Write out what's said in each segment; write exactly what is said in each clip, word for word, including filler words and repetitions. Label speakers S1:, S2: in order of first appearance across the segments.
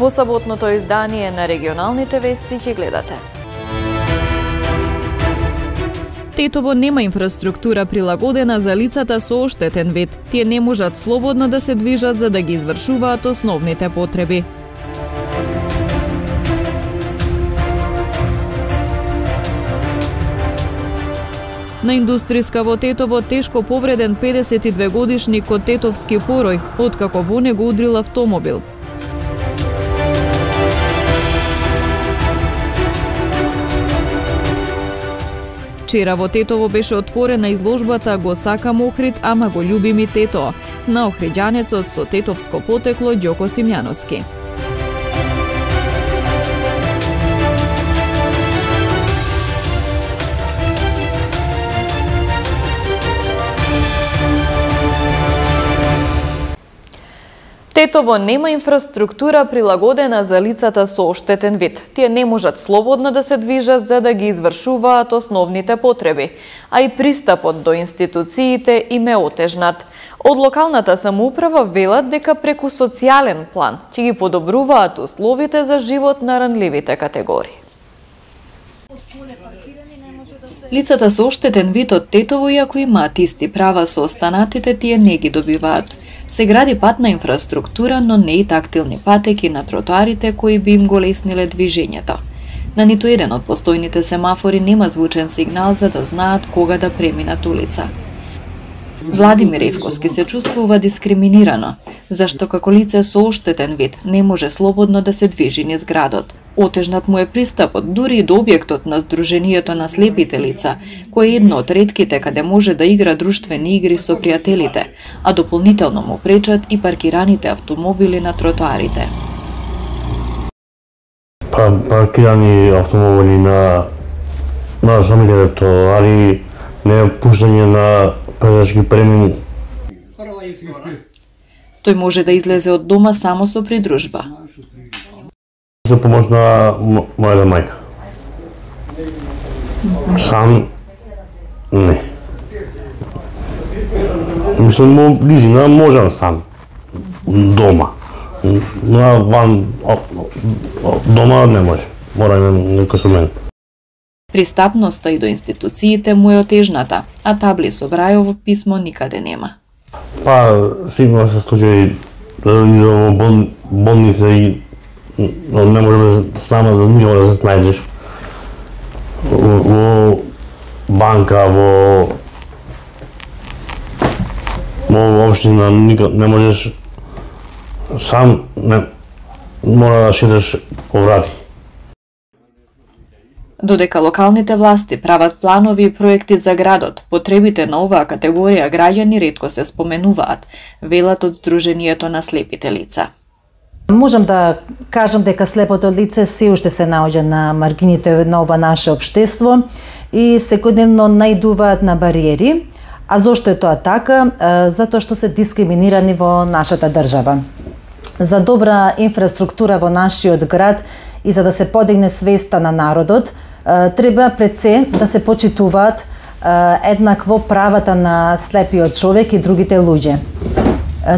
S1: Во саботното издание на регионалните вести ќе гледате. Тетово нема инфраструктура прилагодена за лицата со оштетен вид. Тие не можат слободно да се движат за да ги извршуваат основните потреби. На индустријска во Тетово тешко повреден педесет и две годишник од Тетовски порој, откако во него удрил автомобил. Вчера во Тетово беше отворена изложбата "Го сакам Охрид, ама го љубим и Тето" на охриѓанецот со тетовско потекло Ѓоко Симјановски. Тетово нема инфраструктура прилагодена за лицата со оштетен вид. Тие не можат слободно да се движат за да ги извршуваат основните потреби, а и пристапот до институциите им е отежнат. Од локалната самоуправа велат дека преку социјален план ќе ги подобруваат условите за живот на ранливите категории. Лицата со оштетен вид од Тетово, иако имаат исти права со останатите, тие не ги добиваат. Се гради патна инфраструктура, но не и тактилни патеки на тротоарите кои би им го лесниле движењето. На ниту еден од постојните семафори нема звучен сигнал за да знаат кога да преминат улица. Владимир Евковски се чувствува дискриминирано, зашто како лице со оштетен вид не може слободно да се движи низ градот. Отежнат му е пристапот дури и до објектот на Сдруженијето на слепите лица, кој е едно од ретките каде може да игра друштвени игри со пријателите, а дополнително му пречат и паркираните автомобили на тротоарите.
S2: Па, паркирани автомобили на на самите тротоари, не пуштање на пешачки премини.
S1: Тој може да излезе од дома само со придружба.
S2: За помош на мојата мајка. Сам не. Мислам, близина можам сам. Дома. Но ван дома не може. Мора некој со мен.
S1: Пристапноста и до институциите му е отежната, а табли со Брајово писмо никаде нема.
S2: Па, сигурно се случаи во бол, болница и не може сама за никога да се снајдеш. Во банка, во во општина не можеш сам, не, мора да шеташ по врати.
S1: Додека локалните власти прават планови и проекти за градот, потребите на оваа категорија граѓани ретко се споменуваат, велат од Сдруженијето на слепите лица.
S3: Можам да кажам дека слепото лице се уште се наоѓа на маргините на ова наше општество и секојдневно наидуваат на бариери. А зошто е тоа така? Затоа што се дискриминирани во нашата држава. За добра инфраструктура во нашиот град и за да се подигне свеста на народот, треба пред се да се почитуваат еднакво правата на слепиот човек и другите луѓе.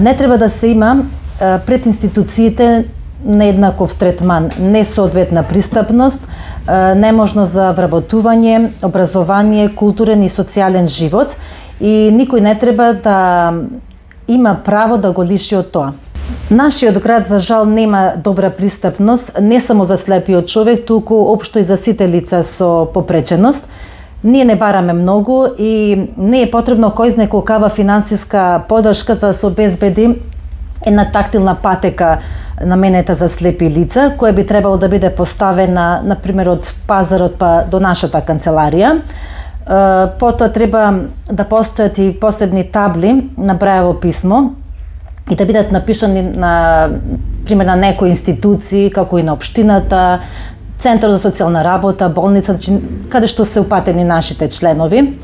S3: Не треба да се има пред институциите нееднаков третман, несоодветна пристапност, неможност за вработување, образование, културен и социјален живот и никој не треба да има право да го лиши од тоа. Нашиот град, за жал, нема добра пристапност, не само за слепиот човек, туку општо и за сите лица со попреченост. Ние не бараме многу и не е потребно кој знае колкава финансиска подршка да се обезбеди една тактилна патека наменета за слепи лица, која би требало да биде поставена, например, од пазарот па до нашата канцеларија. Потоа треба да постојат и посебни табли на Брајово писмо и да бидат напишани на пример на некои институции, како и на општината, Центар за социјална работа, болница, каде што се упатени нашите членови.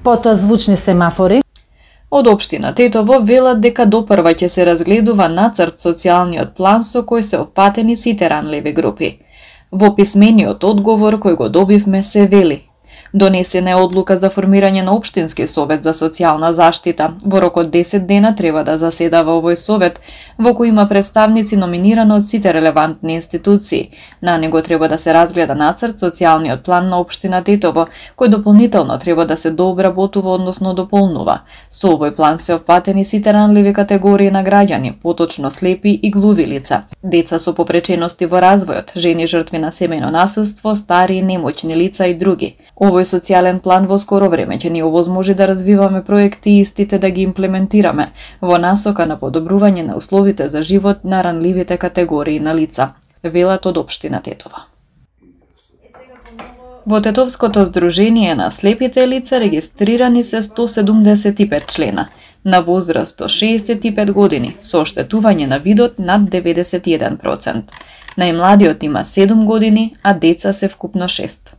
S3: Потоа звучни семафори.
S1: Од општина Тетово велат дека допрва ќе се разгледува нацрт социјалниот план со кој се опатени сите ранливи групи. Во писмениот одговор кој го добивме се вели: Донесена е одлука за формирање на општински совет за социјална заштита. Во рок од десет дена треба да заседава овој совет, во кој има представници номинирани од сите релевантни институции. На него треба да се разгледа нацрт социјалниот план на општина Тетово, кој дополнително треба да се дообработува, односно дополнува. Со овој план се опфатени сите ранливи категории на граѓани, поточно слепи и глуви лица, деца со попречености во развојот, жени жртви на семејно насилство, стари и немоćни лица и други. Овој социјален план во скоро време ќе ни овозможи да развиваме проекти и истите да ги имплементираме во насока на подобрување на условите за живот на ранливите категории на лица, велат од општина Тетово. Во Тетовското здружение на слепите лица регистрирани се сто седумдесет и пет члена, на возраст до шеесет и пет години, со оштетување на видот над деветдесет и еден проценти. Најмладиот има седум години, а деца се вкупно шест.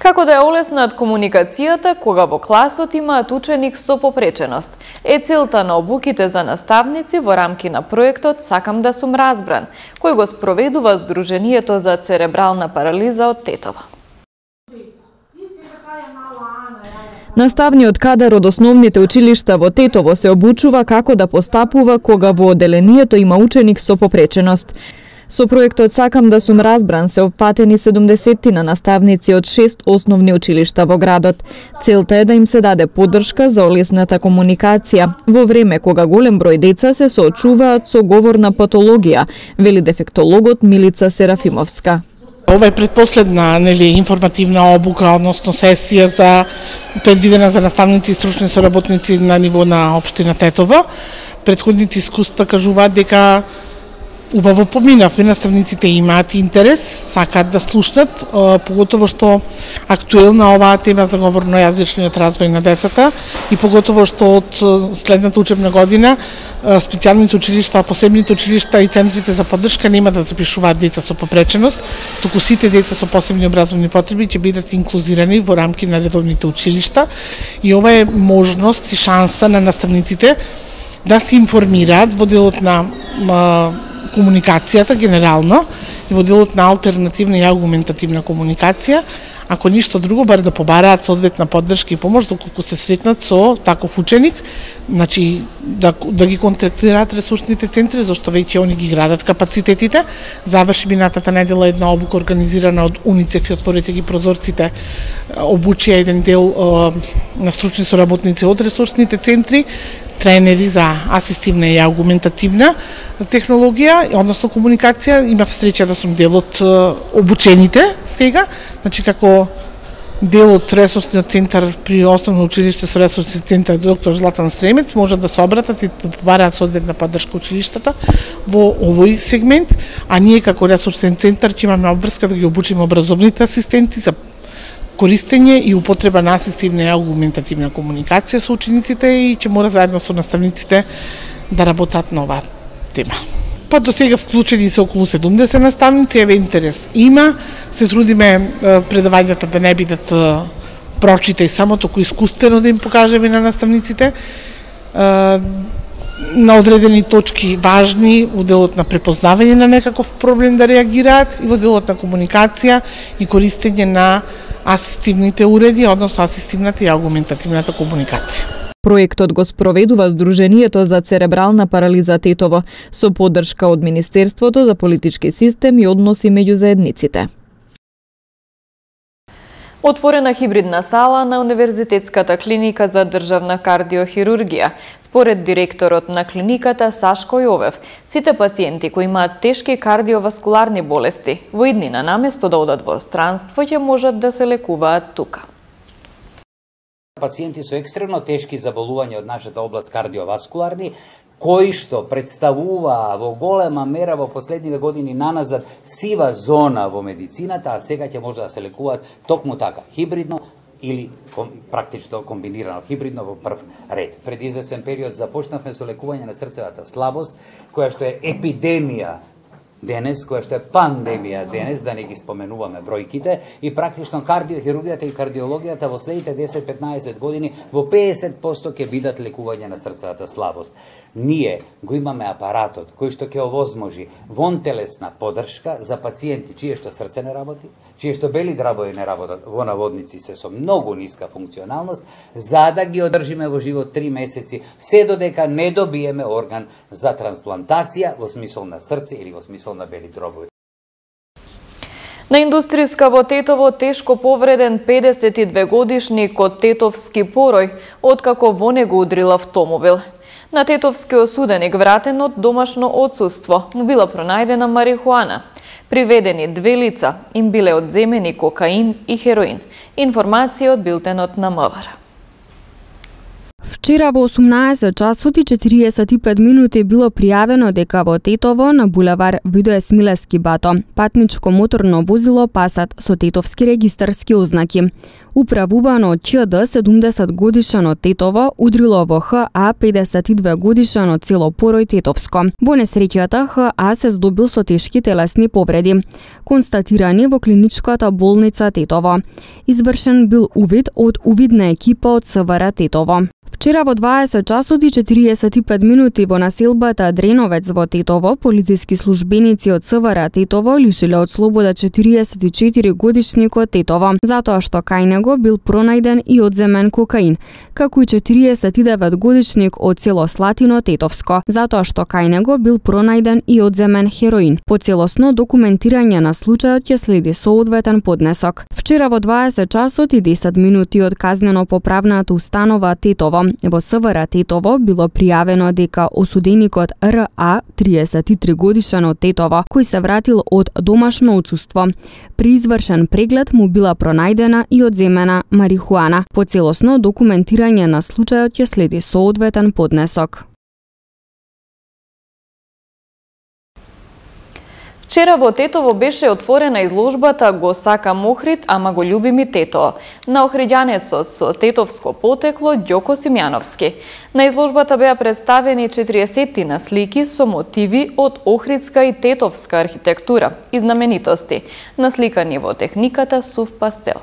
S1: Како да ја олеснат комуникацијата кога во класот имаат ученик со попреченост, е целта на обуките за наставници во рамки на проектот Сакам да сум разбран, кој го спроведува Здруженијето за церебрална парализа од Тетово. Наставниот кадар од основните училишта во Тетово се обучува како да постапува кога во оделението има ученик со попреченост. Со проектот Сакам да сум разбран се опфатени седумдесеттина наставници од шест основни училишта во градот. Целта е да им се даде поддршка за олесната комуникација во време кога голем број деца се соочуваат со говорна патологија, вели дефектологот Милица Серафимовска.
S4: Ова е предпоследна, нели, информативна обука, односно сесија за предвидена за наставници и стручни соработници на ниво на општина Тетово. Претходните искуства кажуваат дека убаво поминавме, наставниците имаат интерес, сакаат да слушнат, поготово што актуелна оваа тема за говорно-јазичниот развој на децата и поготово што од следната учебна година специјалните училишта, посебните училишта и центрите за поддршка нема да запишуваат деца со попреченост, туку сите деца со посебни образовни потреби ќе бидат инклузирани во рамки на редовните училишта и ова е можност и шанса на наставниците да се информираат во делот на комуникацијата генерално и во делот на алтернативна и аргументативна комуникација, ако ништо друго, бар да побараат соодветна поддршка и помош доколку се сретнат со таков ученик, значи да, да ги контактираат ресурсните центри, зашто веќе они ги градат капацитетите. Заврши минатата недела една обука организирана од УНИЦЕФ и Отворете ги прозорците, обучија еден дел на стручни соработници од ресурсните центри, тренери за асистивна и аргументативна технологија, односно комуникација. Имав среќа да сум дел од обучените сега, значи како дел од ресурсниот центар при основно училиште со ресурсни центар доктор Златан Стремец можат да се обратат и да побараат соодветна поддршка училиштата во овој сегмент, а ние како ресурсен центар ќе имаме обврска да ги обучиме образовните асистенти за користење и употреба на асистивна и аргументативна комуникација со учениците и ќе мора заедно со наставниците да работат на оваа тема. Па до сега вклучени се околу седумдесет наставници, еве интерес има, се трудиме предавањата да не бидат прочита и само току искуствено да им покажеме на наставниците на одредени точки важни во делот на препознавање на некаков проблем да реагираат и во делот на комуникација и користење на асистивните уреди, односно асистивната и аргументативната комуникација.
S1: Проектот го спроведува Здруженијето за церебрална парализа Тетово со поддршка од Министерството за политички систем и односи меѓу заедниците. Отворена хибридна сала на Универзитетската клиника за државна кардиохирургија. Според директорот на клиниката Сашко Јовев, сите пациенти кои имаат тешки кардиоваскуларни болести, во иднина наместо да одат во странство, ќе можат да се лекуваат тука.
S5: Пациенти со екстремно тешки заболувања од нашата област кардиоваскуларни, кои што представуваа во голема мера во последниве години наназад сива зона во медицината, а сега ќе може да се лекуваат токму така, хибридно или ком, практично комбинирано хибридно во прв ред. Пред извесен период започнавме со лекување на срцевата слабост, која што е епидемија денес, која што е пандемија денес, да не ги споменуваме бројките, и практично кардиохирургијата и кардиологијата во следните десет-петнаесет години во педесет проценти ќе бидат лекување на срцевата слабост. Ние го имаме апаратот кој што ќе овозможи вонтелесна поддршка за пациенти чие што срце не работи, чие што бели драбови не работат, во наводници се со многу ниска функционалност, за да ги одржиме во живот три месеци, се додека не добиеме орган за трансплантација во смисол на срце или во смисол на бели дробови.
S1: На индустријска во Тетово тешко повреден педесет и две годишник од Тетовски порој, откако во него удрил автомобил. На Тетовски осуденик вратен од домашно отсуство му била пронајдена марихуана. Приведени две лица, им биле одземени кокаин и хероин. Информација од билтенот на МВР.
S6: Вчера во осумнаесет часот и четириесет и пет минути било пријавено дека во Тетово на булевар Видое Смилевски бато патничко моторно возило Пасат со тетовски регистарски ознаки, управувано од ЧД седумдесет годишен од Тетово, удрило во ХА педесет и две годишен од село Порој Тетовско. Во несреќата ХА се здобил со тешки телесни повреди, констатирани во клиничката болница Тетово. Извршен бил увид од увидна екипа од СВР Тетово. Вчера во дваесет часот и четириесет и пет минути во населбата Дреновец во Тетово, полициски службеници од СВР Тетово лишиле од слобода четириесет и четири годишникот Тетово, затоа што кај него бил пронајден и одземен кокаин, како и четириесет и девет годишник од село Слатино Тетовско, затоа што кај него бил пронајден и одземен хероин. По целосно документирање на случајот ќе следи соодветен поднесок. Вчера во дваесет часот и десет минути од казнено поправната установа Тетово во СВР Тетово било пријавено дека осуденикот РА, триесет и три годишен од Тетово, кој се вратил од домашно отсуство, при извршен преглед му била пронајдена и одземена марихуана. По целосно документирање на случајот ќе следи соодветен поднесок.
S1: Вчера во Тетово беше отворена изложбата "Го сакам Охрид, ама го љубим и Тетово" на охриѓанецот со тетовско потекло Ѓоко Симјановски. На изложбата беа представени четириесеттина слики со мотиви од охридска и тетовска архитектура и знаменитости, насликани во техниката сув пастел.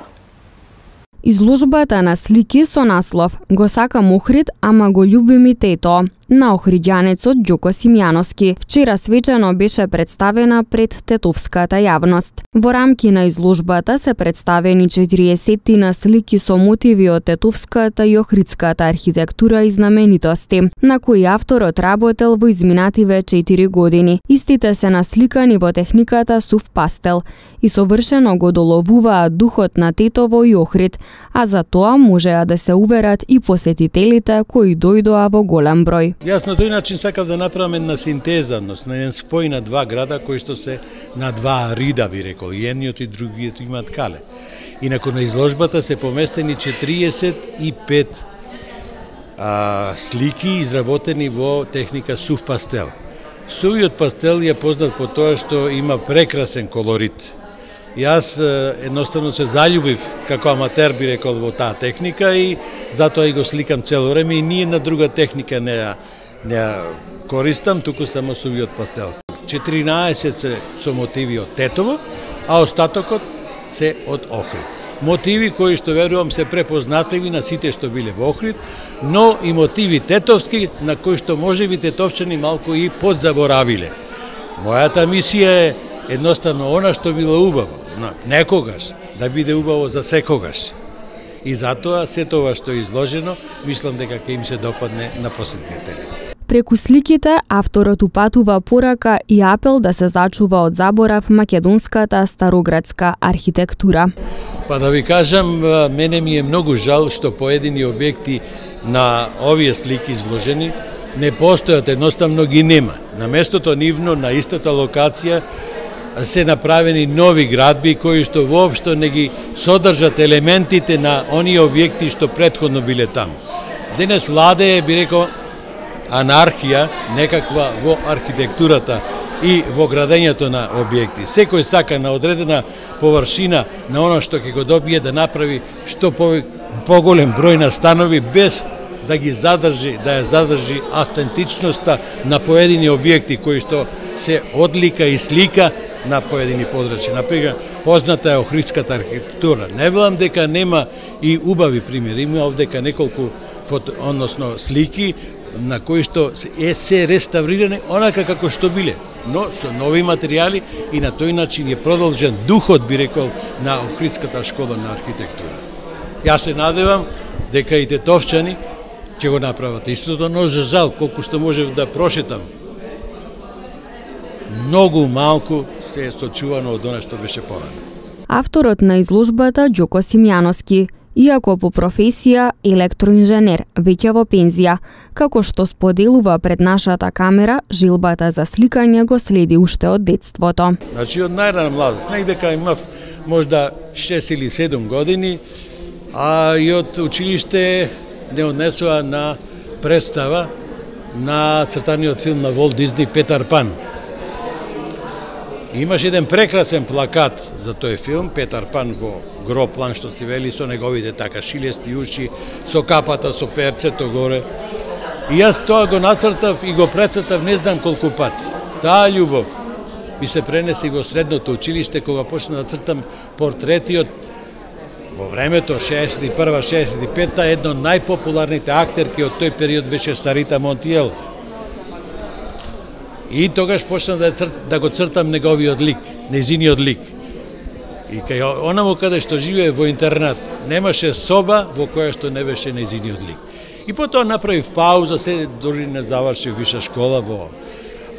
S6: Изложбата на слики со наслов "Го сакам Охрид, ама го љубим и Тетово" на охриѓанецот Ѓоко Симјановски вчера свечено беше представена пред тетовската јавност. Во рамки на изложбата се представени четириесеттина слики со мотиви од тетовската и охридската архитектура и знаменитости, на кои авторот работел во изминативе четири години. Истите се насликани во техниката сув пастел и совршено го доловуваат духот на Тетово и Охрид, а за тоа можеа да се уверат и посетителите кои дојдоа во голем број.
S7: Јас на тој начин сакав да направам една синтеза, на еден спој на два града кои што се на два рида, би рекол, и едниот и другиот имаат кале. Инаку на изложбата се поместени четириесет и пет а, слики изработени во техника сув пастел. Сувиот пастел е познат по тоа што има прекрасен колорит. Јас едноставно се заљубив како аматер, би рекол, во таа техника и затоа и го сликам цело време и ние на друга техника не ја, не ја користам, туку само сувиот пастел. четиринаесет се со мотиви од Тетово, а остатокот се од Охрид. Мотиви кои што верувам се препознатливи на сите што биле во Охрид, но и мотиви тетовски на кои што можеби тетовчани малку и подзаборавиле. Мојата мисија е едноставно она што било убаво, некогаш, да биде убаво за секогаш. И затоа се тоа што е изложено, мислам дека ќе им се допадне на посетителите.
S6: Преку сликите, авторот упатува порака и апел да се зачува од заборав македонската староградска архитектура.
S7: Па да ви кажам, мене ми е многу жал што поедини објекти на овие слики изложени не постојат, едноставно ги нема. На местото нивно, на истата локација, се направени нови градби кои што воопшто не ги содржат елементите на оние објекти што претходно биле таму. Денес владее, би рекол, анархија некаква во архитектурата и во градењето на објекти. Секој сака на одредена површина на оно што ќе го добие да направи што по, поголем број на станови без да ги задржи, да ја задржи автентичноста на поедини објекти кои што се одлика и слика на поедини подрачја. Например, позната е охридската архитектура. Не велам дека нема и убави примери, има овдека неколку фото, односно слики на кои што е се реставрирани онака како што биле, но со нови материјали и на тој начин е продолжен духот, би рекол, на Охридската школа на архитектура. Јас се надевам дека и тетовчани ќе го направат истото, но за жал, колку што можев да прошетам, многу малку се е сочувано од она што беше порано.
S6: Авторот на изложбата Ѓоко Симјановски, иако по професија електроинженер, веќе во пензија, како што споделува пред нашата камера, жилбата за сликање го следи уште од детството.
S7: Значи од најрана младост, негдека имав можда шест или седум години, а и од училиште не однесува на представа на цртаниот филм на Волт Дизни Петар Пан. Имаше еден прекрасен плакат за тој филм, Петар Пан во гро план, што се вели, со неговите така шилести уши, со капата, со перцето горе. И јас тоа го нацртав и го прецртав не знам колку пати. Таа љубов ми се пренесе во средното училиште, кога почна да цртам портретиот во времето шеесет и прва шеесет и пета, едно од најпопуларните актерки од тој период беше Сарита Монтиел. И тогаш почнав да, црт, да го цртам неговиот лик, незиниот лик. И кај онаму каде што живее во интернат, немаше соба во која што не беше незиниот лик. И потоа направив пауза, се дори не завршив виша школа во,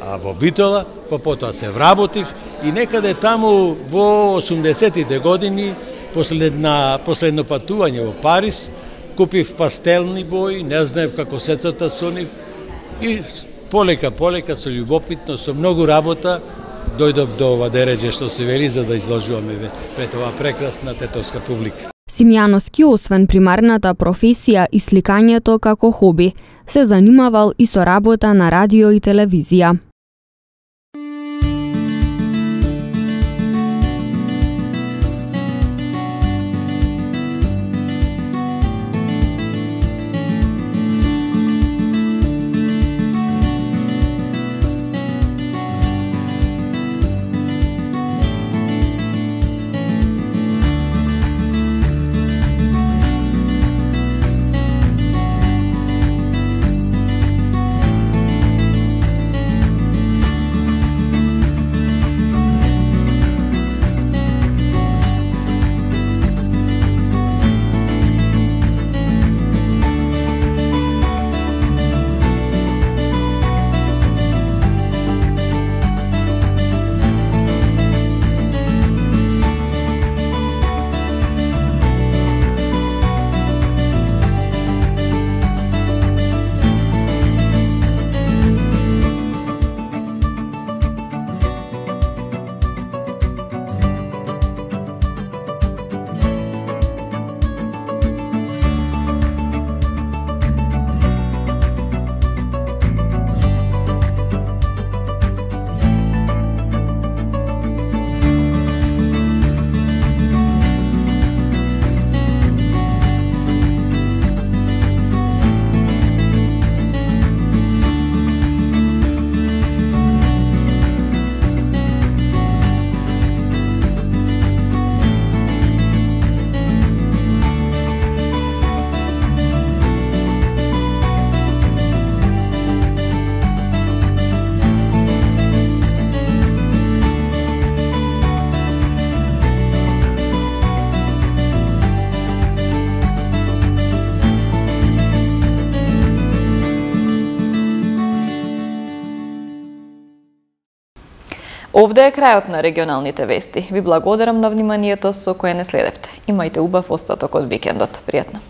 S7: а, во Битола, па потоа се вработив и некаде таму во осумдесетите години, последна, последно патување во Париз, купив пастелни бои, не знаев како се црта со нив и полека, полека, со љубопитно, со многу работа, дојдов до ова дереđe што се вели за да изложуваме пред оваа прекрасна тетовска публика.
S6: Симјановски, освен примарната професија и сликањето како хоби, се занимавал и со работа на радио и телевизија.
S1: Овде е крајот на регионалните вести. Ви благодарам на вниманието со кое не следевте. Имајте убав остаток од викендот. Пријатно.